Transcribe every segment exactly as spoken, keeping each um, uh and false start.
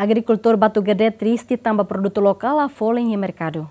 Agrikultór Batugade triste tanba produtu lokál la folin iha merkadu.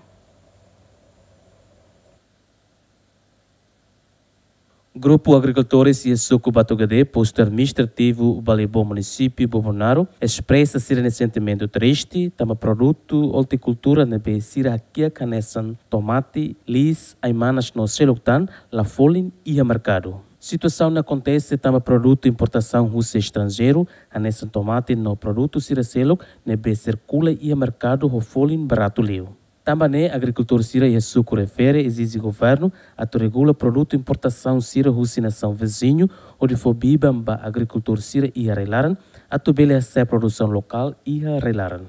Grupu agrikultores iha suku Batugade, postu administrativu Balibó, munisípiu Bobonaro, espresa sira-nia sentimentu triste tanba produtu ortikultura ne'ebé sira hakiak hanesan tomate, liis, ai-manas no seluk tan la folin iha merkadu. Situasaun ne'e akontese tanba produtu importasaun husi estranjeiru, hanesan tomate no produtu sira seluk ne'ebé sirkula iha merkadu ho folin baratu liu. Tanba ne'e, agrikultór sira iha suku refere ezije governu atu regula produtu importasaun sira husi nasaun viziñu, hodi fó biban ba agrikultór sira iha rai-laran atu bele hasa'e produsaun lokál iha rai-laran.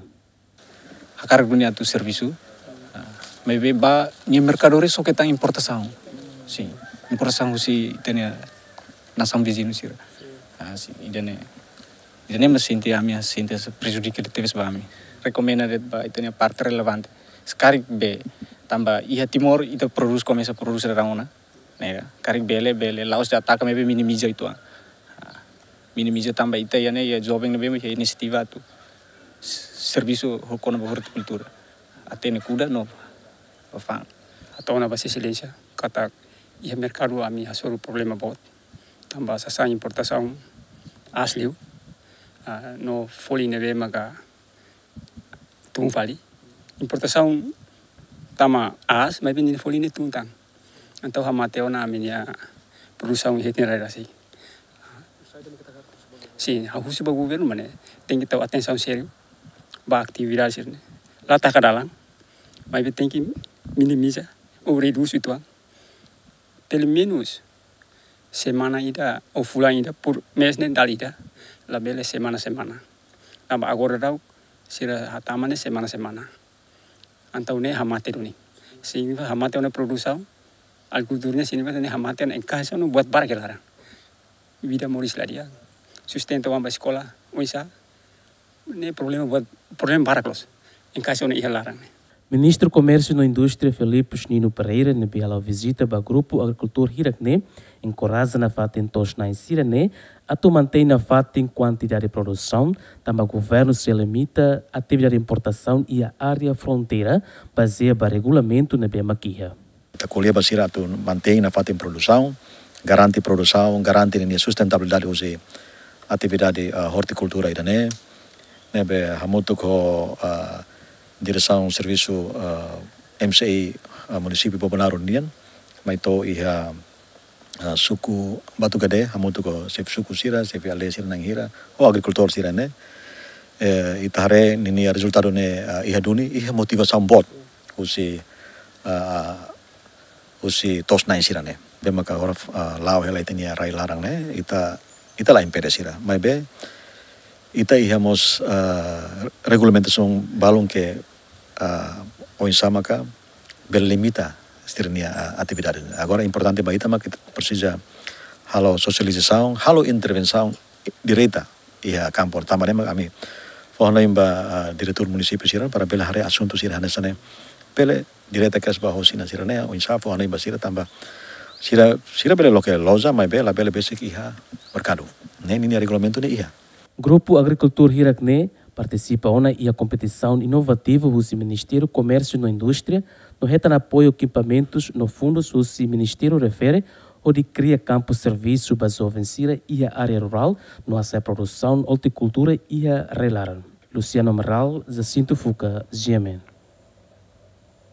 Hakarak duni atu servisu, ah, maibé ba nia merkadori só ke tan importasaun. Sin, importasaun husi ita-nia nasaun viziñu sira. Ah, sin, ida-ne'e, ida-ne'e mak sente ami, sente prejudika tebes ba ami. Rekomenda de'it ba ita-nia parte relevante. Se karik bele, tanba iha Timor ita prodús, komesa prodús rarangona. Ne'e, karik bele, bele, la'ós de'it ataka, maibé minimiza uitoan. Ah, minimiza tanba ita iha ne'e, iha joven ne'ebé iha inisiativa atu s-, servisu ho kona-ba ortikultura. Hatene kuda no ba fa'an. Hato'o ona ba Sua Exelénsia katak iha merkadu ami hasoru problema boot. Tanba sasán importasaun aas liu, ah, no folin ne'ebé maka tun fali. Importasaun tama aas, maibé nia folin ne'e tun tan. Entaun hamate ona ami-nia produsaun iha ita-nia rai rasik. Sin, ha'u husu ba governu mak ne'e tenke tau atensaun sériu ba atividade sira-ne'e. La taka dalan, maibé tenke minimiza ou redús uitoan. Pelumenus semana ida ou fulan ida, por mês ne'e dala ida, labele semana-semana. Tanba agora daudaun sira hatama ne'e semana-semana. Entaun ne'e hamate duni. Signifika hamate ona produsaun, agrikultura ne'e signifika ne'e hamate ona enkaixe ona buat barak iha laran. Vida moris la di'ak, sustenta oan ba eskola, oinsá, ne'e problema buat, problema barak loos. Enkaixe ona iha laran ne'e. Ministru Komérsiu no Indústria Filipus Nino Pereira ne'ebé hala'o vizita ba grupu agrikultór hirak ne'e, enkoraja nafatin to'os-na'in sira-ne'e atu mantein nafatin kuantidade produsaun, tanba governu sei limita atividade importasaun iha área fronteira, bazeia ba regulamentu ne'ebé mak iha. Ita ko'alia ba sira atu mantein nafatin produsaun, garante produsaun, garante ninia sustentabilidade husi atividade, ah, ortikultura ida-ne'e. Ne'ebé hamutuk ho, ah, diresaun servisu, ah, M C I, ah, munisípiu Bobonaro nian, mai to'o iha, ah, suku Batugade, hamutuk ho xefe suku sira, xefe aldeia sira na'in hira, ho agrikultór sira-ne'e. Eh, ita haree ninia rezultadu ne'e, ah, iha duni, iha motivasaun boot husi, ah, husi to'os-na'in sira-ne'e. Ne'ebé maka agora, ah, la'o hela ita-nia rai-laran ne'e, ita, ita la impede sira. Maibé, ita iha mós, ah, regulamentasaun balun ke, ah, oinsá maka bele limita sira-nia, ah, atividade. Agora importante ba ita maka ita presiza halo sosializasaun, halo intervensaun direta iha kampu. Tanba ne'e maka ami fó hanoin ba, ah, diretór munisípiu sira para bele haree asuntu sira hanesan ne'e. Bele direta kedas ba ho sina sira-ne'e, oinsá fó hanoin ba sira tanba sira, sira bele loke loja, maibé labele besik iha merkadu. Ne'e ninia regulamentu ne'e iha. Grupu agrikultór hirak ne'e partisipa ona iha kompetisaun inovativu husi Ministériu Komérsiu no Indústria, no hetan apoiu ekipamentus no fundus husi ministériu refere, hodi kria kampu servisu ba joven sira iha área rurál, no hasa'e produsaun ortikultura iha rai-laran. Luciano Amaral, Jacinto Fuca, G M N.